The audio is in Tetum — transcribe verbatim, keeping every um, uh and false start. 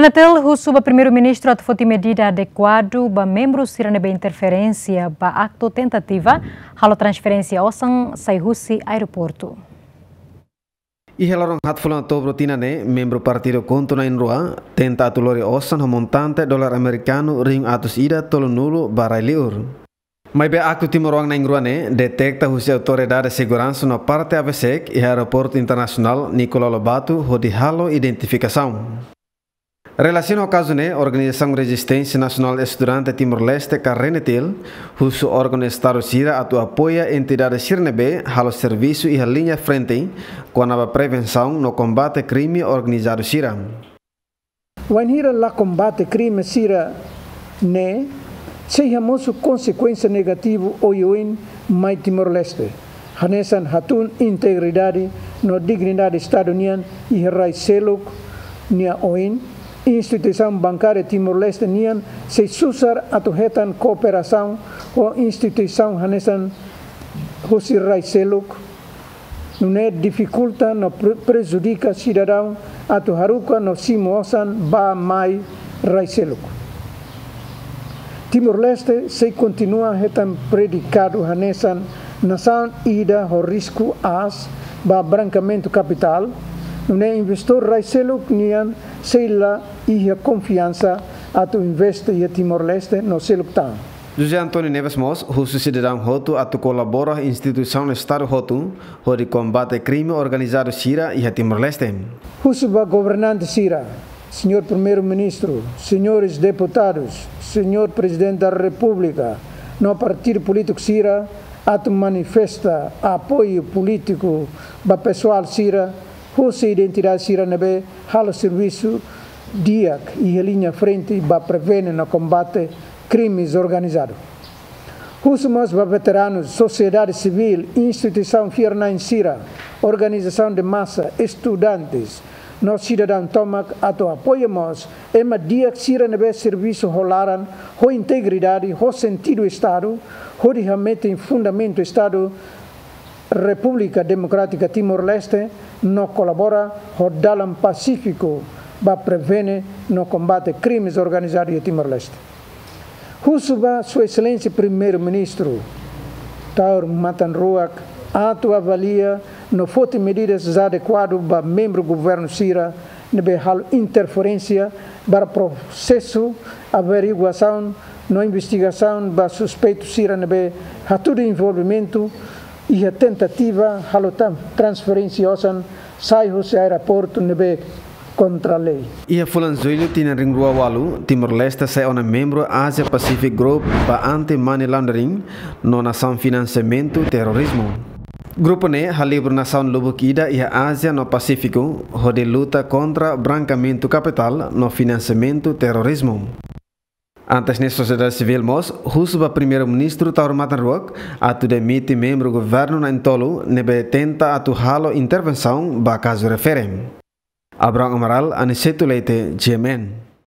Netel husu ba Primeiru-Ministru atu foti medida adekuadu ba membru sira ne'ebé interferénsia ba aktu tentativa halo transferénsia osan sai husi aeroportu. Iha loron haat fulan Outubru tinan ne'e, membru partidu KHUNTO na'in-rua tenta atu lori osan ho montante dolar amerikanu rihun atus ida tolunulu ba rai-liur. Maibé aktu timoroan na'in-rua ne'e detekta husi autoridade seguransa no parte aveseik iha Aeroportu Internasionál Nicolau Lobato hodi halo identifikasaun. Relasiona ho kazu ne'e, Organizasaun Rezisténsia Nasionál Estudante Timor-Leste ka RENETIL husu órgaun Estadu sira atu apoia entidade sira ne'ebé halo servisu iha liña frente kona-ba prevensaun no kombate krime organizadu sira. Wainhira la kombate krime sira-ne'e, sei hamosu konsekuénsia negativu oioin mai Timor-Leste. Hanesan hatún integridade no dignidade Estadu nian iha rai seluk nia oin, instituisaun bankária Timor-Leste nian sei susar atu hetan kooperasaun ho instituisaun hanesan husi rai seluk, nune'e difikulta no pre-, prejudika sidadaun atu haruka no simu osan ba mai rai seluk. Timor-Leste sei kontinua hetan predikadu hanesan nasaun ida ho risku aas ba brankamentu kapitál, nune'e investidór rai seluk nian sei la iha konfiansa atu investe iha Timor-Leste no seluk tan. José António Neves mós husu sidadaun hotu atu kolabora instituisaun Estadu hotu hodi kombate krime organizadu sira iha Timor-Leste. Husu ba governante sira, Señór Primeiru-Ministru, señores deputadus, Señór Prezidente da Repúblika, no partidu polítiku sira atu manifesta apoiu polítiku ba pesoál sira husi entidade sira ne'ebé halo servisu di'ak iha liña frente ba prevene no kombate krimes organizadu. Husu mós ba veteranus, sosiedade sivíl, instituisaun fiar-na'in sira, organizasaun de masa, estudantes, no sidadaun tomak atu apoia mós ema di'ak sira ne'ebé servisu ho laran, ho integridade, ho sentidu Estadu, hodi hametin fundamentu Estadu Repúblika Demokrátika Timor-Leste no kolabora ho dalan pasífiku ba prevene no kombate krimes organizadu iha Timor-Leste. Husu ba Sua Exelénsia Primeiru-Ministru Taur Matan Ruak atu avalia no foti medidas adekuadu ba membru governu sira ne'ebé halo interferénsia ba prosesu averiguasaun no investigasaun ba suspeitu sira ne'ebé hatudu envolvimentu iha tentativa halo tan-, transferénsia osan sai husi aeroportu ne'ebé kontra lei. Iha fulan Jullu tinan rihun rua ualu, Timor-Leste sai ona membru Asia Pacific Group ba Anti-Money Laundering no nasaun finansiamentu terrorizmu. Grupu ne'e halibur nasaun lubuk ida iha Ázia no Pasífiku hodi luta kontra brankamentu kapitál no finansiamentu terrorizmu. Antes ne'e, sosiedade sivíl mós husu ba Primeiru-Ministru Taur Matan Ruak atu demite membru governu na'in-tolu ne'ebé tenta atu halo intervensaun ba kazu refere. Abrão Amaral, Aniceto Leite, G M N.